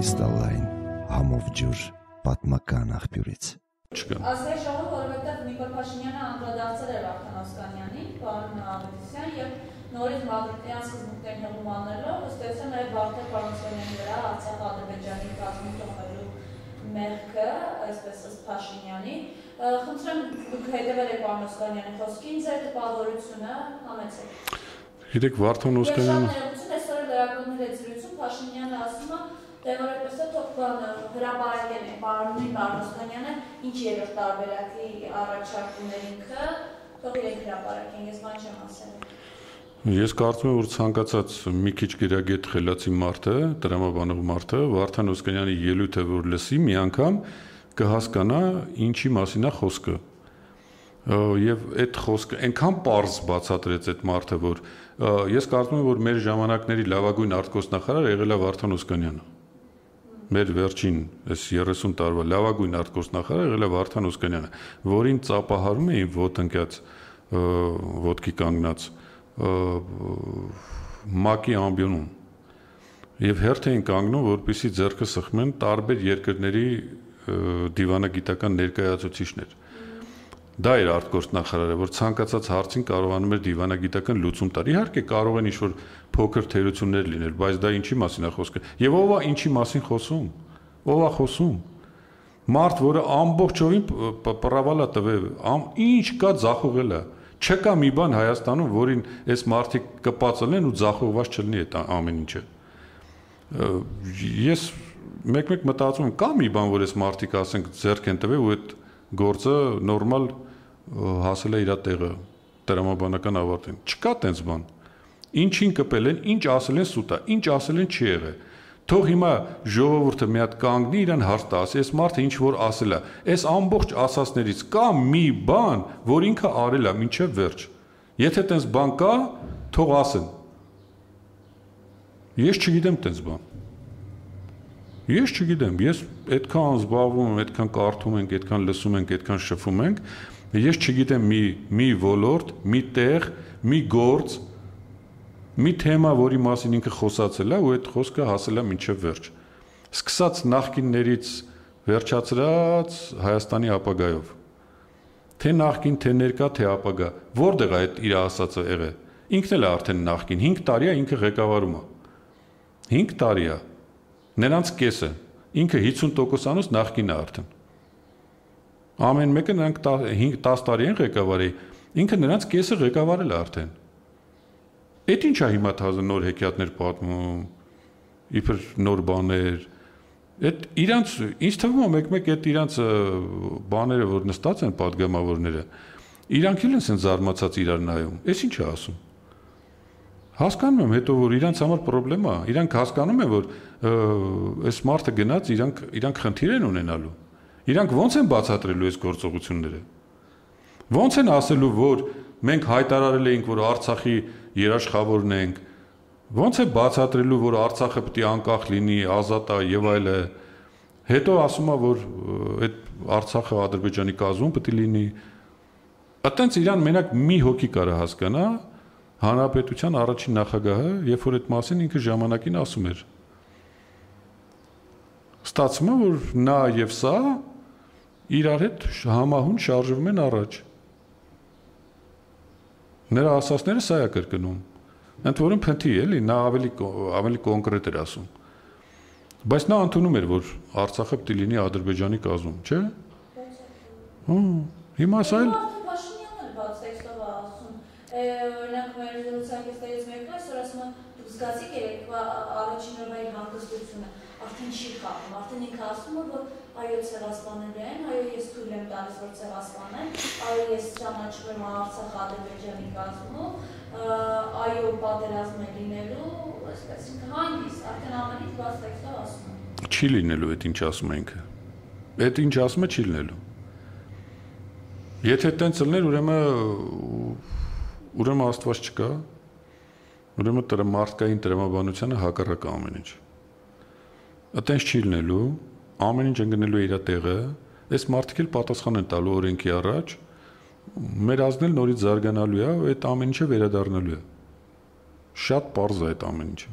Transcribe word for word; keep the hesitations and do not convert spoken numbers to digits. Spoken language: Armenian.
Կրիստալային համով ջուր պատմական աղբյուրից։ Ազգային ժողովը, որովհետև Նիկոլ Փաշինյանը անդրադարձել էր Վարդան Օսկանյանին, պարոն Ավետիսյան, եւ նորից Մադրիդյան սկզբունքներին հղում անելով, ըստ էության նաև Վարդան Օսկանյանի վրա Արցախ-Ադրբեջանի կազմում թողնելու մեղքը, այսպես ըստ Փաշինյանի։ Խնդրեմ, դուք հետևել եք պարոն Օսկանյանի խոսքին, ձեր տպավորությունը համեցեք։ Գիտեք, Վարդան Օսկանյանը այսօր լրագրողների հետ զրույցում Փաշինյանը ասում է, դե որպես է թող հրապարակել է պարոն Օսկանյանը, ինչ երրորդ տարբերակի առաջարկումներ ինքը, թող իրենք հրապարակեն, ես բան չեմ ասել։ Ես կարծում եմ, որ ցանկացած մի քիչ գերագետ խելացի մարդը, տրամաբանող մարդը, Վարդան Օսկանյանի ելույթը որ լսի, մի անգամ կհասկանա ինչի մասին է խոսքը։ Եվ այդ խոսքը այնքան պարզ բացատրեց այդ մարդը, որ ես կարծում եմ, որ մեր ժամանակների լավագույն արտգործնախարարը եղել է Վարդան Օսկանյանը։ Մեր վերջին այս երեսուն տարվա լավագույն արտգործնախարարը եղել է Վարդան Օսկանյանը, որին ծափահարում էին ոտնկյաց ոտքի կանգնած ՄԱԿ-ի ամբիոնում եւ հերթ էին կանգնում, որպեսզի ձեռքը սխմեն տարբեր երկրների դիվանագիտական ներկայացուցիչներ։ Դա էր արտգործնախարարը, որ ցանկացած հարցին կարողանում էր դիվանագիտական լուծում տալ։ Իհարկե կարող են ինչ-որ փոքր թերություններ լինել, բայց դա ինչի մասին է խոսքը։ Եվ ով է ինչի մասին խոսում։ Ով է խոսում։ Մարդ, որը ամբողջովին պռավալա տվել, ինչ կա ձախողել է։ Չկա մի բան Հայաստանում, որին այս մարդիկ կպածելեն ու ձախողված չլինի այդ ամեն ինչը։ Ես մեկ-մեկ մտածում եմ, կա մի բան, որ այս մարդիկ ասենք ձեռք են տվել ու այդ գործը նորմալ հասել է իր տեղը տրամաբանական ավարտին։ Չկա տենց բան։ Ինչին կպել են, ինչ ասել են սուտ է, ինչ ասել են չի եղել։ Թող հիմա ժողովուրդը մի հատ կանգնի իրան հարց տա, ասի, այս մարդը ինչ որ ասել է, այս ամբողջ ասածներից կա մի բան, որ ինքը արել է մինչև վերջ։ Եթե տենց բան կա, թող ասեն։ Ես չգիտեմ տենց բան։ Ես չգիտեմ, ես այդքան զբաղվում եմ, այդքան կարդում ենք, այդքան լսում ենք, այդքան շփվում ենք, ես չգիտեմ մի մի ոլորտ, մի տեղ, մի գործ, մի թեմա, որի մասին ինքը խոսացել է ու այդ խոսքը հասել է մինչև վերջ։ Սկսած նախկիններից վերջացրած Հայաստանի ապագայով։ Թե նախկին, թե ներկա, թե ապագա, որտեղ է այդ իր ասածը եղել։ Ինքն էլ է արդեն նախկին, հինգ տարի է ինքը ղեկավարում է։ հինգ տարի է։ Նրանց կեսը, ինքը հիսուն տոկոսանոց նախկին է արդեն։ Ամեն մեկը նրանք տասը տարի են ղեկավարի, ինքը նրանց կեսը ղեկավարել է արդեն։ Այդ ինչ է հիմա թազը նոր հեքիաթներ պատմում, իբր նոր բաներ։ Այդ իրանց, ինձ թվում է մեկ-մեկ այդ իրանց բաները, որ նստած են պատգամավորները, իրանք էլ են սենց զարմացած իրար նայում, այս ինչ է ասում։ Հասկանում եմ հետո, որ իրանց համար պրոբլեմ է, իրանք հասկանում են, որ այս մարդը գնաց, իրանք, իրանք խնդիր են ունենալու, իրանք ոնց են բացատրելու այս գործողությունները, ոնց են ասելու, որ մենք հայտարարել էինք, որ Արցախի երաշխավորն ենք, ոնց է բացատրելու, որ Արցախը պետք է անկախ լինի, ազատ է եւ այլը, հետո ասում է, որ այդ Արցախը Ադրբեջանի կազմում պետք է լինի, այտենց իրան մենակ մի հոգի կարա հասկանա, Հանրապետության առաջին նախագահը, երբ որ այդ մասին ինքը ժամանակին ասում էր։ Ստացվում է, որ նա եւ սա իրար հետ համահուն շարժվում են առաջ։ Նրա ասածները սա է կրկնում։ Ընդ որում փնթի էլի, նա ավելի ավելի կոնկրետ էր ասում։ Բայց նա ընդունում էր, որ Արցախը պետք է լինի Ադրբեջանի կազմում, չէ՞։ Հմ, հիմա սա էլ օրինակ մեր զրուցակիցներից մեկն այսօր ասում է դուք զգացիք երեկվա առաջին օրվա հանգստությունը, արդեն չի խաղում, արդեն ինքը ասում է, որ այո ցեղասպանել են, այո ես թույլ եմ տալիս, որ ցեղասպանեն, այո ես ճանաչում եմ Արցախ-Ադրբեջանի կազմում, այո պատերազմ է լինելու, այսպես ինքը հանգիստ, արդեն ամենից բաց տեքստով ասում է։ Չի լինելու այդ ինչ ասում է ինքը։ Այդ ինչ ասում է չի լինելու։ Եթե տենց լիներ, ուրեմն Ուրեմն Աստված չկա, ուրեմն դրա մարդկային տրամաբանությունը հակառակ ամեն ինչ։ Այտենց չի լինելու, ամեն ինչ ընկնելու է իր տեղը, այս մարդիկ էլ պատասխան են տալու օրենքի առաջ, մեր ազգն էլ նորից զարգանալու է, այդ ամեն ինչը վերադառնալու է։ Շատ պարզ է այդ ամեն ինչը։